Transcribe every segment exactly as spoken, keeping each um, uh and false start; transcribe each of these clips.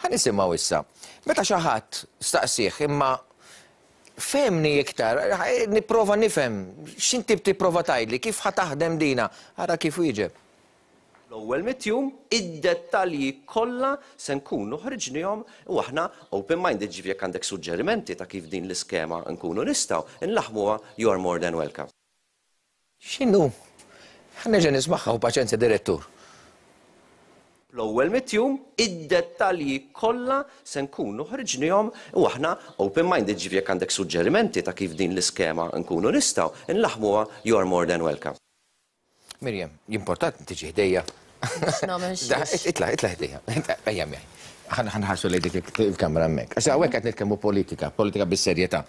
Ħa nisimgħu issa. Meta xi ħadd staqsih imma fehmni iktar, nipprova nifhem, x'inti tipprova tgħidli, kif ħa taħdem dina, ara kif wieġeb. L-ewwel mitt jum id-dettalji kollha se nkunu ħriġnihom u aħna open-minded, ġifieri jekk għandek suġġerimenti ta' kif din l-iskema nkunu nistgħu nlaħmuha, you are more than welcome. X'inhu? Ħa nerġa' nismagħha u paċenzja, direttur. L-ewwel mitt jum id-dettalji kollha se nkunu ħriġnihom u aħna open-minded, ġifieri jekk għandek suġġerimenti ta' kif din l-iskema nkunu nistgħu nlaħmuha, you are more than welcome. Miriam, jimportat tiġi ħdejja. Itla, itla ħdejja. Ejja miegħi. Ħa nħarsu lejn dik il-kamera hemmhekk. Għax hawnhekk qed nitkellmu politika, politika bis-serjetà.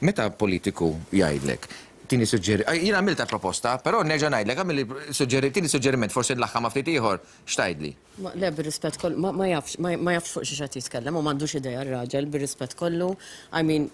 Meta politiku jgħidlek, tini suġġeri, jien għamilta proposta, però nerġa' ngħidlek, għamil suġġeri, tini suġġeriment, forsi nlaħħam ftit ieħor, x'tgħidli? Le, bir-rispett kollu, ma jafx, ma jafx fuq xi qed jitkellem u m'għandux idea r-raġel, bir-rispett kollu. I mean,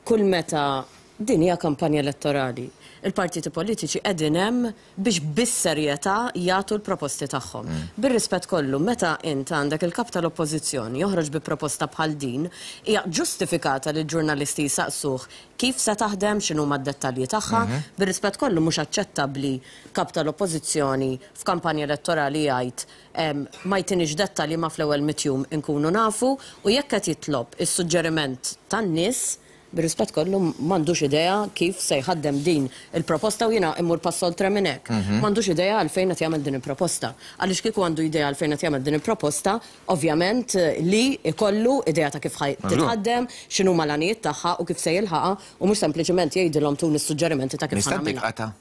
kull meta din hija kampanja elettorali, il-partiti politiċi qegħdin hemm biex bis-serjetà jagħtu l-proposti tagħhom. Bir-rispett kollu, meta int għandek il-kap tal-Oppożizzjoni joħroġ bi proposta bħal din, hija ġustifikata li l-ġurnalisti jsaqsuh kif se taħdem, x'inhuma d-dettalji tagħha. Bir-rispett kollu, mhux aċċettabbli kap tal-Oppożizzjoni f'kampanja elettorali jgħid ma jtinix dettalji ma fl-ewwel mitt jum inkunu nafu, u jekk qed jitlob is-suġġeriment tan-nies, bir-rispett kollu m'għandux idea kif se jħaddem din il-proposta u jiena immur pass oltre minn hekk. M'għandux idea għalfejn qed jagħmel din il-proposta. Għaliex kieku għandu idea għalfejn qed jagħmel din il-proposta, ovvjament li ikollu idea ta' kif titħaddem, x'inhuma l-għanijiet tagħha u kif se jilħaqha, u mhux sempliċement jgħidilhom tuni s-suġġerimenti ta' kif ħa nagħmilha.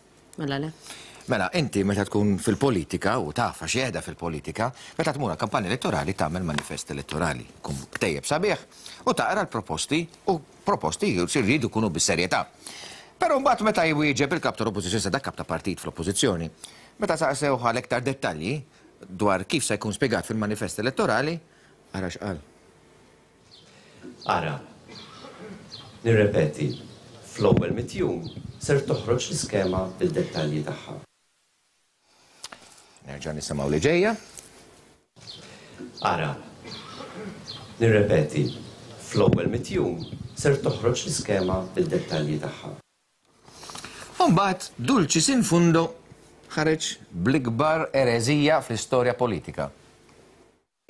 Mela le. Mela, inti meta tkun fil-politika, u taf għax qiegħda fil-politika, meta tmur kampanja elettorali tagħmel manifest elettorali. Kun ktejjeb sabiħ u taqra l-proposti, u proposti jridu jkunu bis-serjetà. Però mbagħad meta jwieġeb il-kap tal-Oppożizzjoni, sa dak kap ta' partit fl-Oppożizzjoni, meta saqsew għal iktar dettalji dwar kif se jkun spjegat fil-manifest elettorali, ara x'qal. Ara, nirrepeti, fl-ewwel mitt jum ser toħroġ l-iskema bil-dettalji tagħha. Nerġa' nisimgħu li ġejja. Ara, nirrepeti, fl-ewwel mitt jum ser toħroġ l-iskema bil-dettalji tagħha. U mbagħad dulcis in fundo ħareġ bl-ikbar ereżija fl-istorja politika.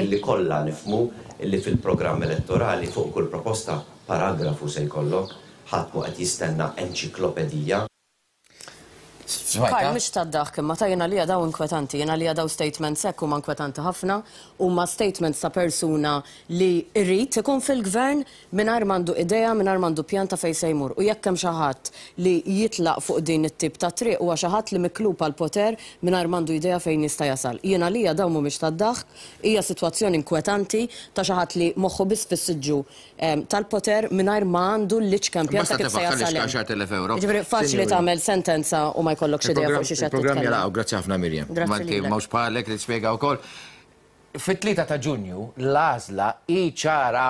Illi kollha nifhmu illi fil-programm elettorali fuq kull proposta paragrafu se jkollok, ħadd mhu qed jistenna enċiklopedija. Karl, mhux tad-daħk, imma ta' jiena li daw inkwetanti, jiena li daw statements hekk huma inkwetanti ħafna, huma statements ta' persuna li jrid ikun fil-gvern mingħajr m'għandu idea, mingħajr m'għandu pjan ta' fejn se jmur. U jekk hemm xi ħadd li jitlaq fuq din it-tip ta' triq huwa xi ħadd li miklub għal poter mingħajr m'għandu idea fejn jista' jasal. Jiena li daw mhumiex tad-daħk, hija sitwazzjoni inkwetanti ta' xi ħadd li moħħu biss fis-siġġu tal-poter mingħajr ma għandu l-iċken pjan ta' kif se jasal. Jiġifieri faċli tagħmel sentenza u ma jkollokx idea fuq xi xed Il-programm jalaqgħu, grazzi ħafna Miriam. Manti mhux bħalek li tispjega wkoll. Fit-tlieta ta' Ġunju l-għażla hi ċara: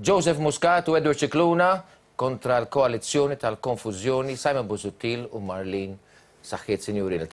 Joseph Muscat u Edward Scicluna kontra l-koalizzjoni tal-konfużjoni, Simon Busuttil u Marlene. Saħħiet, sinjuri.